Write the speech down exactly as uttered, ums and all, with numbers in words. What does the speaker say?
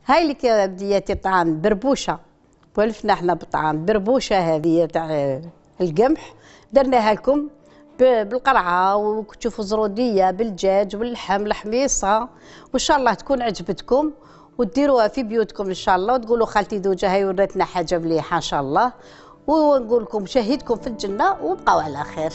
هاي لك يا بدياتي الطعام بربوشه، ولفنا احنا بطعام بربوشه هذه تاع القمح، درناها لكم بالقرعه وتشوفوا زروديه بالدجاج واللحم الحميصه، وان شاء الله تكون عجبتكم وديروها في بيوتكم ان شاء الله، وتقولوا خالتي دوجه هاي وراتنا حاجه مليحه ان شاء الله، ونقول لكم شهيدكم في الجنه وبقوا على خير.